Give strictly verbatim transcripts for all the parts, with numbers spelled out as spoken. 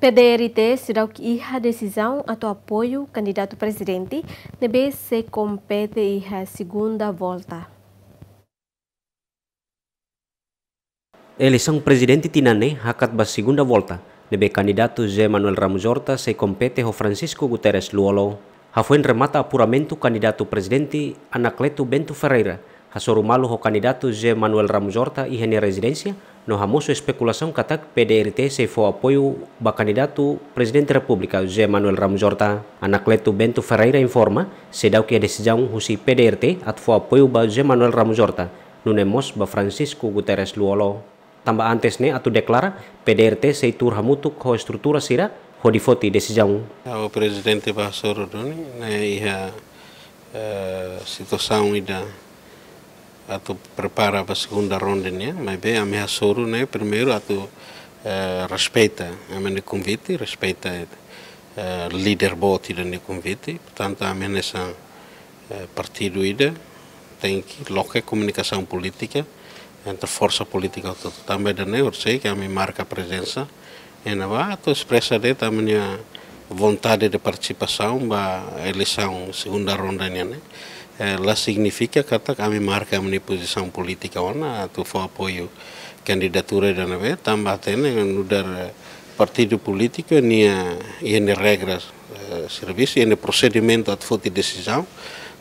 P D R T seidauk iha desizaun atu apoiu kandidatu prezidente ne'ebé sei kompete iha segunda volta. Eleisaun prezidente tinan ne'e hakat ba segunda volta, ne'ebé kandidatu José Manuel Ramos Horta sei kompete ho Francisco Guterres Lú-Olo. Hafoin remata apuramentu kandidatu prezidente, Anacleto Bento Ferreira hasoru malu ho kandidatu José Manuel Ramos Horta iha nia rezidénsia, no hamosu espekulasaun katak P D R T sei fó apoiu ba kandidatu Prezidente Repúblika José Manuel Ramos Horta. Anacleto Bento Ferreira informa, seidauk iha desizaun husi P D R T atu fó apoiu ba José Manuel Ramos Horta, nune'e mós ba Francisco Guterres Lú-Olo. Tanba antes ne'e atu deklara, P D R T sei tuur hamutuk ho estrutura sira hodi foti desizaun. Ha'u prezidente ba hasoru duni, ne'e iha, eh, situasaun ida atu prepara ba segunda ronda nian, maibé ami hasoru ne'e primeiru atu, eh, respeita ami-nia konvite, respeita, eh, líder boot ida-nia konvite. Portantu, ami hanesan, eh, partidu ida tenke loke komunikasaun polítika entre forsa polítika hotu. Tanba ida-ne'e, horisehik ami marka prezensa iha ne'ebá atu espresa de'it ami-nia vontade de partisipasaun ba eleisaun segunda ronda nian ne'e. Eh, la signifika katak ami marka ami-nia pozisaun polítika ona atu fó apoiu kandidatura ida ne'ebé, tanba hatene nu'udar, eh, partidu polítiku nia, iha nia regras, eh, servisu, iha nia prosedimentu atu foti desizaun.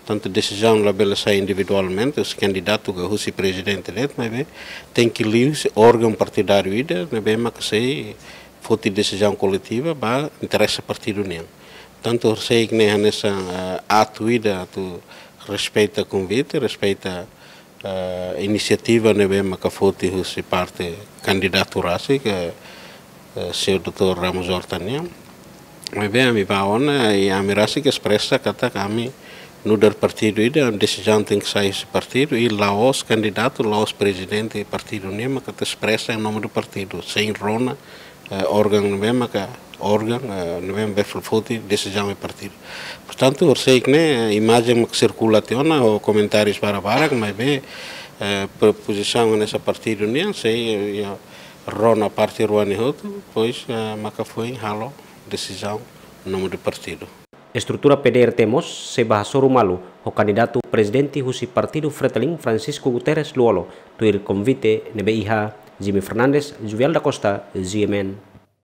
Tantu desizaun labele sai individualmente, husi kandidatu ka husi prezidente de'it, maibé tenke liuhusi órgaun partidáriu ida ne'ebé maka sei foti desizaun koletiva ba interese partidu nian. Tantu horisehik ne'e hanesan, eh, atu ida atu respeita konvite, respeita, eh, inisiativa ne'ebé maka foti husi parte kandidatu rasik, eh, señór doutór Ramos Horta nian. Maibé ami ba ona, i ami rasik espresa katak ami nu'udar partidu ida, desizaun tenke sai husi partidu, i la'ós kandidatu, la'ós prezidente partidu nian maka atu espresa em nome do partido, sein rona, eh, órgaun ne'ebé maka, órgaun, eh, ne'ebé maka foti desizaun iha partidu. Portantu, horisehik ne'e, eh, imajen maka sirkula tiha ona, ho komentárius barak-barak, maibé, eh, po-, pozisaun hanesan partidu nian, sei, eh, iha rona parte rua ne'e hotu, depois, eh, maka foin halo desizaun em nome do partido. Estrutura P D R T mós sei ba hasoru malu ho kandidatu prezidente husi Partidu Fretilin Francisco Guterres Lú-Olo, tuir konvite ne'ebé iha. Jimmy Fernandes, Juvial da Costa, G M N.